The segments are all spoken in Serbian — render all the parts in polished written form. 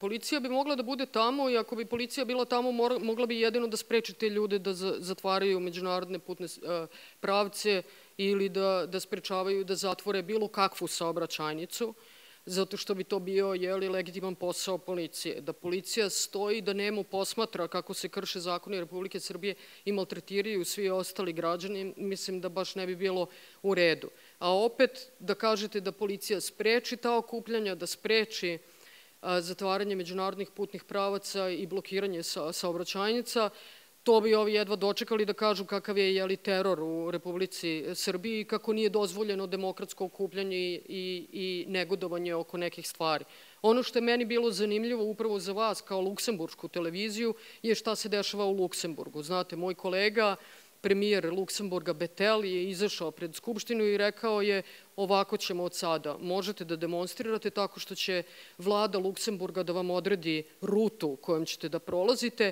Policija bi mogla da bude tamo i ako bi policija bila tamo, mogla bi jedino da spreči te ljude da zatvaraju međunarodne putne pravce ili da sprečavaju da zatvore bilo kakvu saobraćajnicu, zato što bi to bio legitiman posao policije. Da policija stoji, da nemo posmatra kako se krše zakoni Republike Srbije i maltretiraju svi ostali građani, mislim da baš ne bi bilo u redu. A opet da kažete da policija spreči ta okupljanja, da spreči zatvaranje međunarodnih putnih pravaca i blokiranje saobraćajnica, to bi ovi jedva dočekali da kažu kakav je teror u Republici Srbiji i kako nije dozvoljeno demokratsko okupljanje i negodovanje oko nekih stvari. Ono što je meni bilo zanimljivo upravo za vas kao luksemburšku televiziju je šta se dešava u Luksemburgu. Znate, moj kolega, premijer Luksemburga Bettel je izašao pred Skupštinu i rekao je ovako ćemo od sada. Možete da demonstrirate tako što će vlada Luksemburga da vam odredi rutu kojom ćete da prolazite.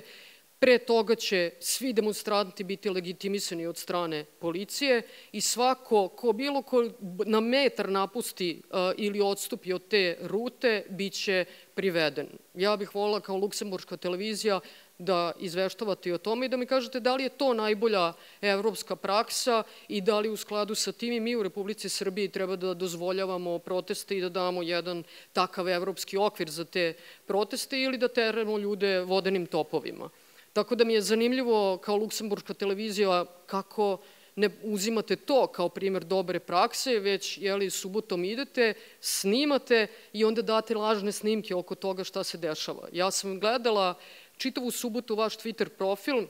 Pre toga će svi demonstranti biti legitimisani od strane policije i svako ko bilo ko na metar napusti ili odstupi od te rute biće priveden. Ja bih volila kao luksemburška televizija da izveštavate i o tome i da mi kažete da li je to najbolja evropska praksa i da li u skladu sa tim i mi u Republici Srbiji treba da dozvoljavamo proteste i da damo jedan takav evropski okvir za te proteste ili da teramo ljude vodenim topovima. Tako da mi je zanimljivo kao luksemburška televizija kako ne uzimate to kao primer dobre prakse, već subotom idete, snimate i onda date lažne snimke oko toga šta se dešava. Ja sam gledala čitavu subotu vaš Twitter profil,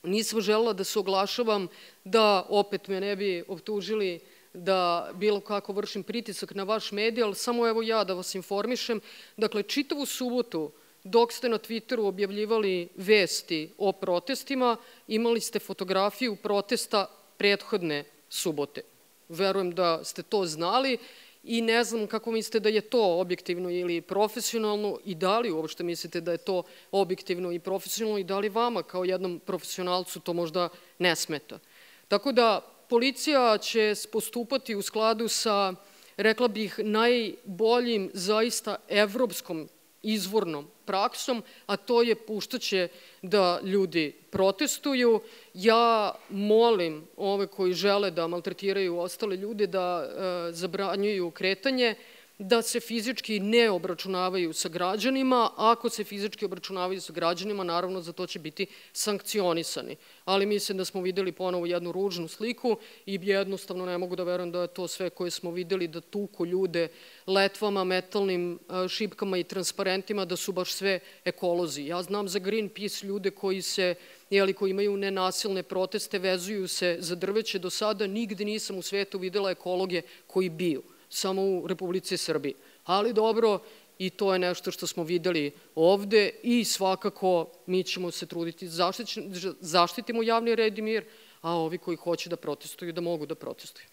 nisam želela da se oglašavam, da opet me ne bi optužili da bilo kako vršim pritisak na vaš medij, ali samo evo ja da vas informišem. Dakle, čitavu subotu dok ste na Twitteru objavljivali vesti o protestima, imali ste fotografiju protesta prethodne subote. Verujem da ste to znali i ne znam kako mislite da je to objektivno ili profesionalno i da li uopšte mislite da je to objektivno i profesionalno i da li vama kao jednom profesionalcu to možda ne smeta. Tako da policija će postupati u skladu sa, rekla bih, najboljim zaista evropskom izvornom praksom, a to je puštaće da ljudi protestuju. Ja molim ove koji žele da maltretiraju ostale ljude da zabranjuju kretanje, da se fizički ne obračunavaju sa građanima. Ako se fizički obračunavaju sa građanima, naravno za to će biti sankcionisani. Ali mislim da smo videli ponovo jednu ružnu sliku i jednostavno ne mogu da verujem da je to sve koje smo videli, da tuku ljude letvama, metalnim šipkama i transparentima, da su baš sve ekolozi. Ja znam za Greenpeace ljude koji imaju nenasilne proteste, vezuju se za drveće. Do sada nigde nisam u svetu videla ekologe koji biju, samo u Republici Srbiji. Ali dobro, i to je nešto što smo videli ovde i svakako mi ćemo se truditi da zaštitimo javni red i mir, a ovi koji hoće da protestuju da mogu da protestuju.